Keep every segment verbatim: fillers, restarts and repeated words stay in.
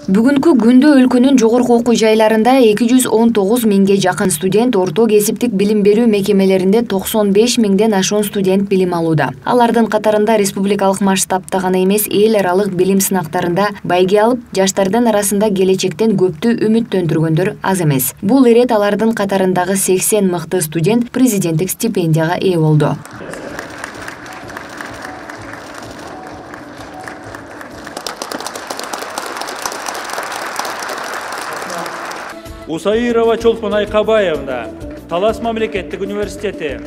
Бүгүнкү күндө өлкөнүн жогорку окуу жайларында эки жүз он тогуз миңге жакын студент орто кесиптик билим берүү мекемелеринде токсон беш миңден ашуун студент билим алууда. Алардын катарында республикалык масштабта гана эмес, эл аралык билим сынактарында байге алып, жаштардын арасында келечектен көптү үмүттөндүргөндөр аз эмес. Бул ирет алардын катарындагы сексен мыкты студент президенттик стипендияга ээ болду. Усаирова Чолпон Айкабаевна, Талас мамлекеттик университети.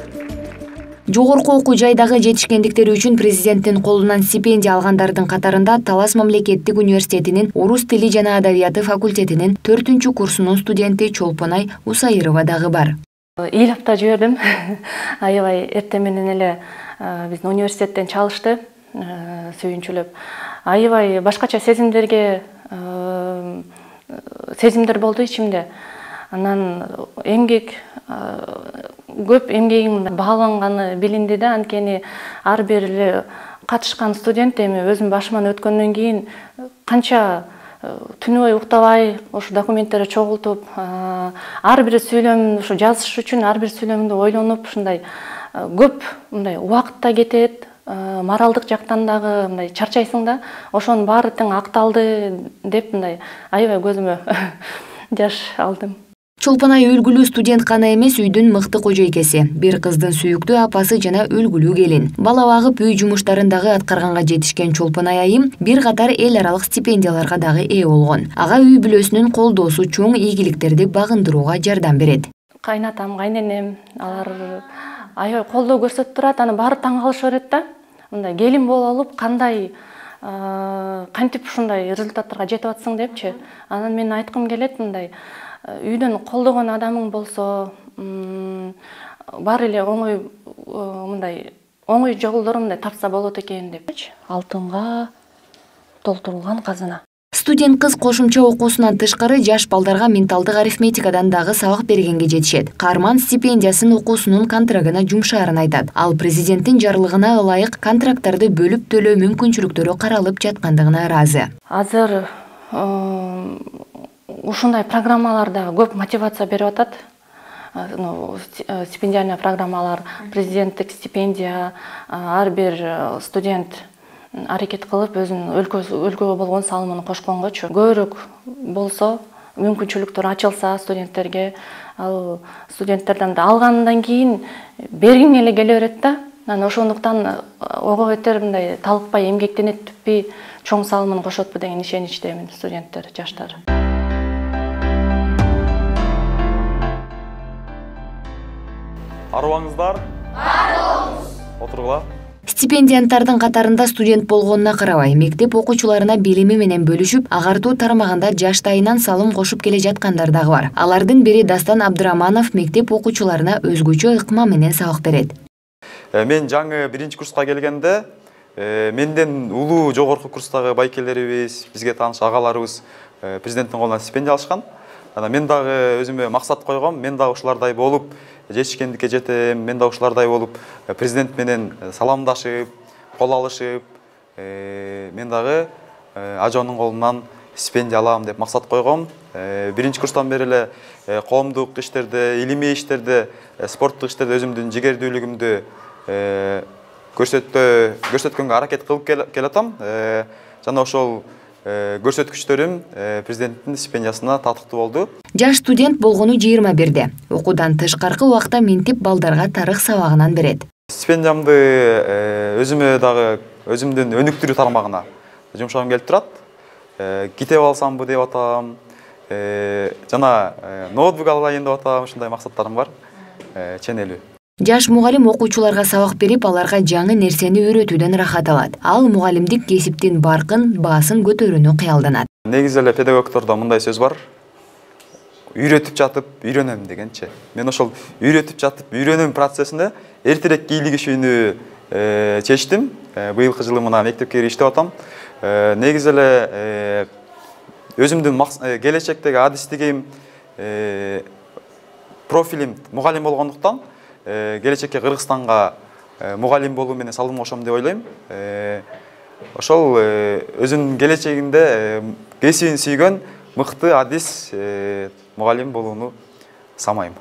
Жогорку окуу жайдагы жетишкендиктери үчүн президенттин колунан стипендия алгандардын катарында Талас мамлекеттик университетинин орус тили жана адабияты факультетинин төртүнчү курсунун студенти Чолпонай Усаирова дагы бар. Ыйлапта жибердим. Аябай эртең менен эле биздин университеттен чалышты, сүйүнчүлөп. Аябай башкача сезимдерге сезимдер болду ичимде. Анан эмгек, көп эмгегим бааланганы билинди да, анткени ар бир эле катышкан студент эми өзүм башыман өткөндөн кийин канча түнү бою уктабай ошо документтерди чогултуп, ар бир сүйлөмдү ушу жазыш үчүн ар бир сүйлөмдү ойлонуп, ушундай көп мындай убакыт да кетет. Моралдык жактан дагы мындай чарчайсың да, ошонун баары тең акталды деп мындай аябай көзүмө жаш алдым. Чолпонай үлгүлүү студент гана эмес, үйдүн мыкты кожойкеси, бир кыздын сүйүктүү апасы жана үлгүлүү келин. Бала багып үй жумуштарын дагы аткарганга жетишкен Чолпонай айым бир катар эл аралык стипендияларга дагы ээ болгон. Ага үй бүлөсүнүн колдоосу чоң ийгиликтерди багындырууга жардам берет. Кайнатам, кайненем, алар аябай колдоо көрсөтүп турат, аны баары таң калыша берет да. Мындай келин болуп алып, кандай кантип ушундай результаттарга жетип атсың депчи. Анан мен айткым келет, мындай үйдөн колдогон адамың болсо, баары эле оңой мындай оңой жолдору мындай тапса болот экен депчи. Алтынга толтурулган казына. Студент кыз кошумча окуусунан тышкары жаш балдарга менталдык арифметикадан дагы сабак бергенге жетишет. Каарман стипендиясын окуусунун контрагына жумшаарын айтат. Ал президенттин жарлыгына ылайык контракттарды бөлүп төлөө мүмкүнчүлүктөрү каралып жаткандыгына ыраазы. Азыр ушундай программаларда көп мотивация берип атат. Стипендиальный программалар, президенттик стипендия, ар бир студент аракет кылып өзүнүн өлкөгө болгон салымын кошконгочу. Көбүрөөк болсо, мүмкүнчүлүктөр ачылса студенттерге, ал студенттерден да алгандан кийин бергиң эле келе берет да. Анан ошондуктан ого бетер мындай талыкпай эмгектенет түппи, чоң салымын кошотпу деген ишеничтемин студенттер, жаштар. Арыбаңыздар? Бар болуңуз. Отургула. Стипендианттардын катарында студент болгонуна карабай, мектеп окуучуларына билими менен бөлүшүп, агартуу тармагында жаштайынан салым кошуп келе жаткандар дагы бар. Алардын бири Дастан Абдыраманов мектеп окуучуларына өзгөчө ыкма менен сабак берет. Мен жаңы биринчи курска келгенде, менден улуу жогорку курстагы байкелерибиз, бизге тааныш агаларыбыз президенттин колунан стипендия алышкан. Анан мен дагы өзүмө максат койгом, мен дагы ушулардай болуп, жетишкендикке жетем, мен да ушулардай болуп, президент менен саламдашып, кол алышып, мен дагы ажонун колунан стипендия алам деп максат койгом. Биринчи курстан бери эле коомдук иштерде, илимий иштерде, спорттук иштерде өзүмдүн жигердүүлүгүмдү көрсөткөнгө аракет кылып келатам. Жана ошол көрсөткүчтөрүм президенттин стипендиясына татыктуу болду. Жаш студент болгону жыйырма бирде. Окуудан тышкаркы убакта ментип балдарга тарых сабагынан берет. Стипендиямды өзүмө дагы өзүмдүн өнүктүрүү тармагына жумшагым келип турат. Китеп алсамбы деп атам, жана ноутбук алайын деп атам, ушундай максаттарым бар. Ченелүү. Жаш мугалим окуучуларга сабак берип, аларга жаңы нерсени үйрөтүүдөн рахат алат. Ал мугалимдик кесиптин баркын, баасын көтөрүүнү кыялданат. Негизи эле педагогтордо мындай сөз бар. Үйрөтүп жатып үйрөнөм дегенчи. Мен ошол үйрөтүп жатып үйрөнөм процессинде эртерээк кийлигишүүнү чечтим. Быйылкы жылы мына мектепке иштеп атам. Негизи эле өзүмдүн келечектеги адистигим, профилим мугалим болгондуктан келечекке Кыргызстанга мугалим болуу менен салым кошом деп ойлойм. Ошол өзүнүн келечегинде кесибин сүйгөн мыкты адис мугалим болууну самайм.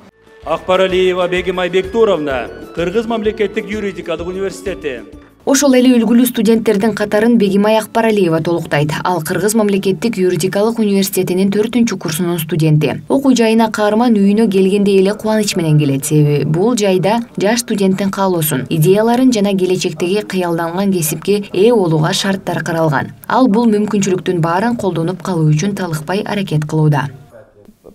Акбаралиева Бегимай Бектуровна, Кыргыз мамлекеттик юридикалык университети. Ошол эле үлгүлүү студенттердин катарын Бегимай Акбаралиева толуктайт. Ал Кыргыз мамлекеттик юридикалык университетинин төртүнчү курсунун студенти. Окуу жайына каарман үйүнө келгенде эле кубаныч менен келет. Себеби бул жайда жаш студенттин каалоосун, идеяларын жана келечектеги кыялданган кесипке ээ болууга шарттар каралган. Ал бул мүмкүнчүлүктүн баарын колдонуп калуу үчүн талыкпай аракет кылууда.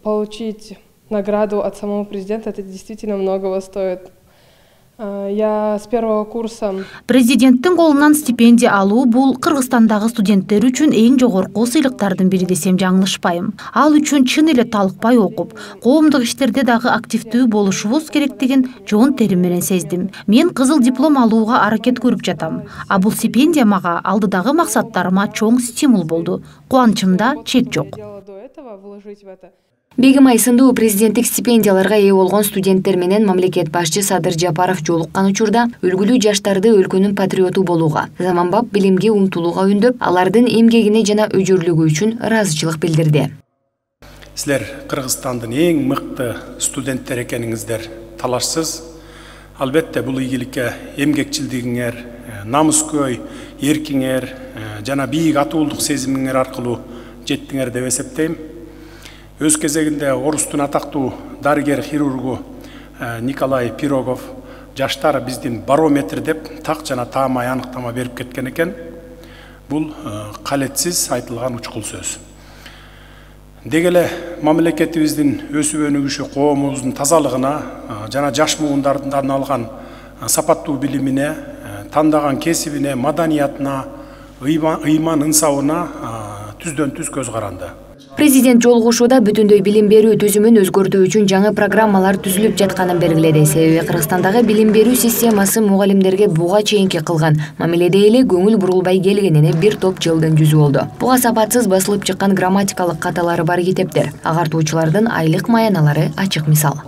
Получить награду от самого президента, это действительно многого стоит. Я с первого курса. Президенттин колунан стипендия алуу бул Кыргызстандагы студенттер үчүн эң жогорку сыйлыктардын бири десем жаңылышпайм. Ал үчүн чын эле талыкпай окуп, коомдук иштерде дагы активдүү болушубуз керектигин жоон терим менен сездим. Мен кызыл диплом алууга аракет көрүп жатам. А бул стипендия мага алдыдагы максаттарыма чоң стимул болду. Кубанычымда чек жок. Бегимай сындуу президенттик стипендияларга ээ болгон студенттер менен мамлекет башчы Садыр Жапаров жолуккан учурда үлгүлүү жаштарды өлкөнүн патриоту болууга, заманбап билимге умтулууга үндөп, алардын эмгегине жана өжөрлүгү үчүн ыраазычылык билдирди. Силер Кыргызстандын эң мыкты студенттер экениңиздер талашсыз. Албетте бул ийгиликке эмгекчилдигиңер, намыскөй, эркиңер жана бийик атуулук сезимиңер аркылуу жеттиңер деп эсептейм. Өз кезегинде Орустун атактуу дарыгер-хирургу Николай Пирогов жаштар биздин барометр деп так жана таамай аныктама берип кеткен экен. Бул калетсиз айтылган учкул сөз. Деги эле мамлекетибиздин өсүп өнүгүшү коомубуздун тазалыгына жана жаш муундардан алган сапаттуу билимине, тандаган кесибине, маданиятына, ыйман ынсабына түздөн түз көз каранды. Президент жолугушууда бүтүндөй билим берүү түзүмүн өзгөртүү үчүн жаңы программалар түзүлүп жатканын белгиледи. Себеби Кыргызстандагы билим берүү системасы мугалимдерге буга чейинки кылган мамиледе эле көңүл бурулбай келгенине бир топ жылдын жүзү болду. Буга сапатсыз басылып чыккан грамматикалык каталары бар китептер, агартуучулардын айлык маяналары ачык мисал.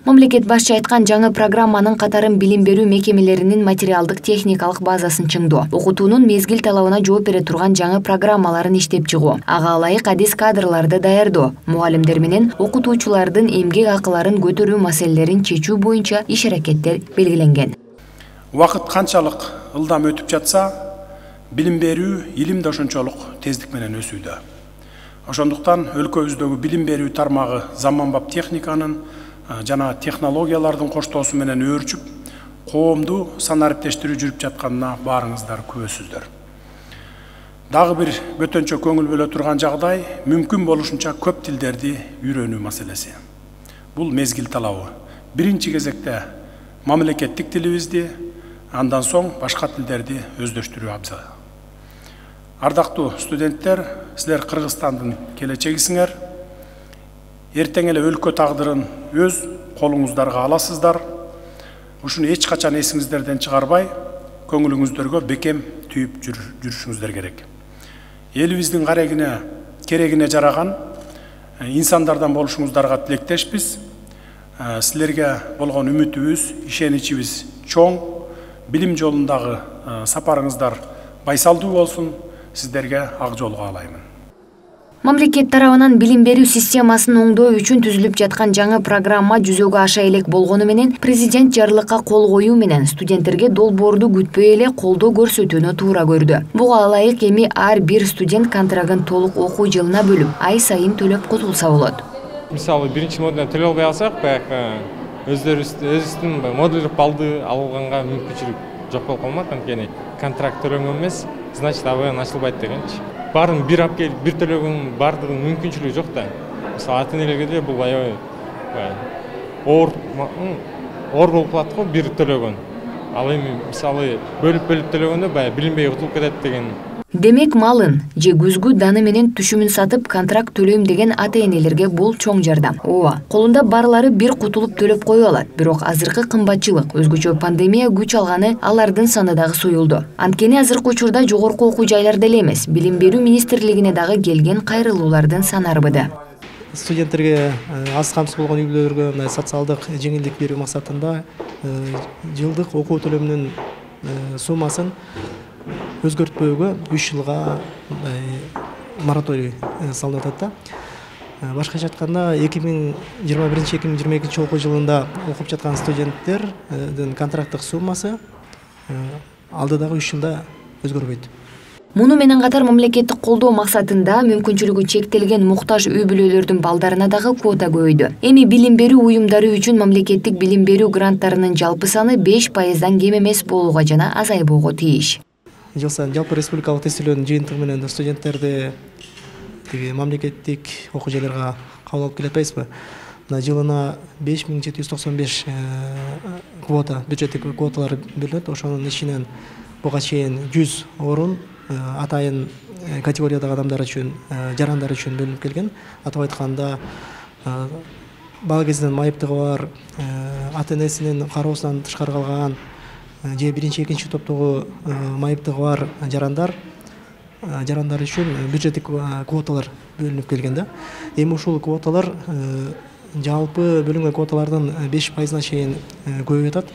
Мамлекет башчы айткан жаңы программанын катарын билим берүү мекемелеринин материалдык техникалык базасын чыңдоо, окутуунун мезгил талабына жооп бере турган жаңы программаларын иштеп чыгуу, ага ылайык адис кадрларды даярдоо, мугалимдер менен окутуучулардын эмгек акыларын көтөрүү маселелерин чечүү боюнча иш аракеттер белгиленген. Убакыт канчалык ылдам өтүп жатса, билим берүү илим да ошончолук тездик менен өсүүдө. Ошондуктан өлкөбүздөгү билим берүү тармагы заманбап техниканын жана технологиялардын коштоосу менен өөрчүп, коомду санариптештирүү жүрүп жатканына баарыңыздар күбөсүздөр. Дагы бир бөтөнчө көңүл бөлө турган жагдай мүмкүн болушунча көп тилдерди үйрөнүү маселеси. Бул мезгил талабы. Биринчи кезекте мамлекеттик тилибизди, андан соң башка тилдерди өздөштүрүү абзал. Ардактуу студенттер, силер Кыргызстандын келечегисиңер. Эртең эле өлкө тагдырын өз колуңуздарга аласыздар. Ушуну эч качан эсиңиздерден чыгарбай, көңүлүңүздөргө бекем түйүп жүрүшүңүздөр керек. Элибиздин карегине, керегине жараган инсандардан болушуңуздарга тилектешпиз. Силерге болгон үмүтүбүз, ишеничибиз чоң. Билим жолундагы сапарыңыздар байсалдуу болсун. Сиздерге ак жол каалаймын. Мамлекет тарабынан билим берүү системасын оңдоо үчүн түзүлүп жаткан жаңы программа жүзөгө аша элек болгону менен президент жарлыкка кол коюу менен студенттерге долбоорду күтпөй эле колдоо көрсөтүүнү туура көрдү. Буга ылайык эми ар бир студент контрагын толук окуу жылына бөлүп, ай сайын төлөп кутулса болот. Мисалы биринчи модулдан төлөп албай алсак, баягы өздөрүбүздүн модулдук балды алганга мүмкүнчүлүк жок болуп калмак, анткени контракт төлөнгөн эмес, значит абдан ачылбайт дегенчи. Барын бир алып келип, бир төлөгөн бардыгын мүмкүнчүлүгү жок да. Мисалы ата энелерге де бул аябай оор оор болуп калат го бир төлөгөн. Ал эми мисалы бөлүп-бөлүп төлөгөндө баягы билинбей утулуп кетет деген. Демек малын же күзгү даны менен түшүмүн сатып контракт төлөйм деген ата энелерге бул чоң жардам. Ооба, колунда барлары бир кутулуп төлөп кое алат. Бирок азыркы кымбатчылык, өзгөчө пандемия күч алганы алардын саны дагы союлду. Анткени азыркы учурда жогорку окуу жайларда эле эмес, билим берүү министрлигине дагы келген кайрылуулардын саны арбыды. Студенттерге аз камсыз болгон үй бүлөлөргө мындай социалдык жеңилдик берүү максатында жылдык окуу төлөмүнүн суммасын өзгөртпөөгө үч жылга мораторий салынып атат да. Башкача айтканда эки миң жыйырма биринчи эки миң жыйырма экинчи окуу жылында окуп жаткан студенттердин контракттык суммасы алдыдагы үч жылда өзгөрбөйт. Муну менен катар мамлекеттик колдоо максатында мүмкүнчүлүгү чектелген муктаж үй бүлөлөрдүн балдарына дагы квота көбөйдү. Эми билим берүү уюмдары үчүн мамлекеттик билим берүү гранттарынын жалпы саны беш пайыздан кем эмес болууга жана азайбоого тийиш. Жыл сайын жалпы республикалык тестөөлөрдүн жыйынтыгы менен студенттерди тиги мамлекеттик окуу жайларга кабыл алып келе атпайбызбы? Мына жылына беш миң жети жүз токсон беш квота, бюджеттик квоталар берилет. Ошонун ичинен буга чейин жүз орун атайын категориядагы адамдар үчүн, жарандар үчүн бөлүнүп келген. Атап айтканда, бала кезинен майыптыгы бар, ата энесинин кароосунан тышкары калган же биринчи, экинчи топтогу майыптыгы бар жарандар жарандар үчүн бюджеттик квоталар бөлүнүп келген да. Эми ушул квоталар жалпы бөлүнгөн квоталардын беш пайызына чейин көбөйүп атат.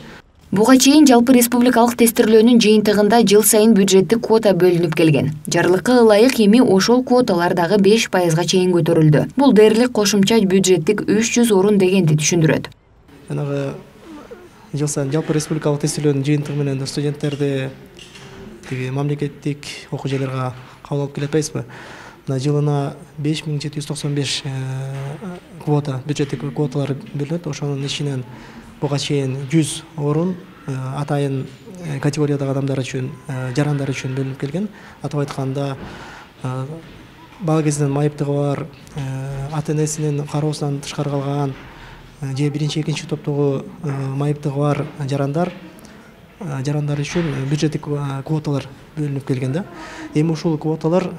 Буга чейин жалпы республикалык тестирлөөнүн жыйынтыгында жыл сайын бюджеттик квота бөлүнүп келген. Жарлыкка ылайык эми ошол квоталар дагы беш пайызга чейин көтөрүлдү. Бул дээрлик кошумча бюджеттик үч жүз орун дегенди түшүндүрөт. Жанагы жыл сайын жалпы республикалык тестирлөөнүн жыйынтыгы менен студенттерди тиги мамлекеттик окуу жайларга кабыл алып келе атпайбызбы? Мына жылына беш миң жети жүз токсон беш квота, бюджеттик квоталар берилет. Ошонун ичинен буга чейин жүз орун атайын категориядагы адамдар үчүн, жарандар үчүн бөлүнүп келген. Атап айтканда, бала кезинен майыптыгы бар, ата энесинин кароосунан тышкары калган же биринчи, экинчи топтогу майыптыгы бар жарандар жарандар үчүн бюджеттик квоталар бөлүнүп келген да. Эми ушул квоталар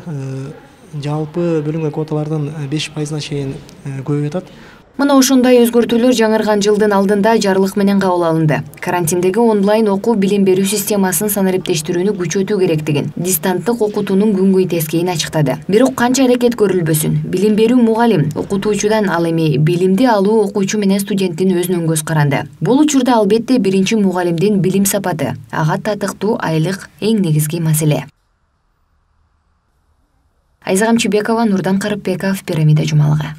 жалпы бөлүнгөн квоталардын беш пайызына чейин көбөйүп атат. Мына ошондой өзгөртүүлөр жаңырган жылдын алдында жарлык менен кабыл алынды. Карантиндеги онлайн окуу билим берүү системасын санариптештирүүнү күчөтүү керектигин, дистанттык окутуунун күнгөй тескейин ачыктады. Бирок канча аракет көрүлбөсүн, билим берүү мугалим окутуучудан ал эми билимди алуу окуучу менен студенттин өзүнөн көз каранды. Бул учурда албетте биринчи мугалимдин билим сапаты, ага татыктуу айлык эң негизги маселе. Айза Камчыбекова, Нурдан Карыпбеков, Пирамида жумалыгы.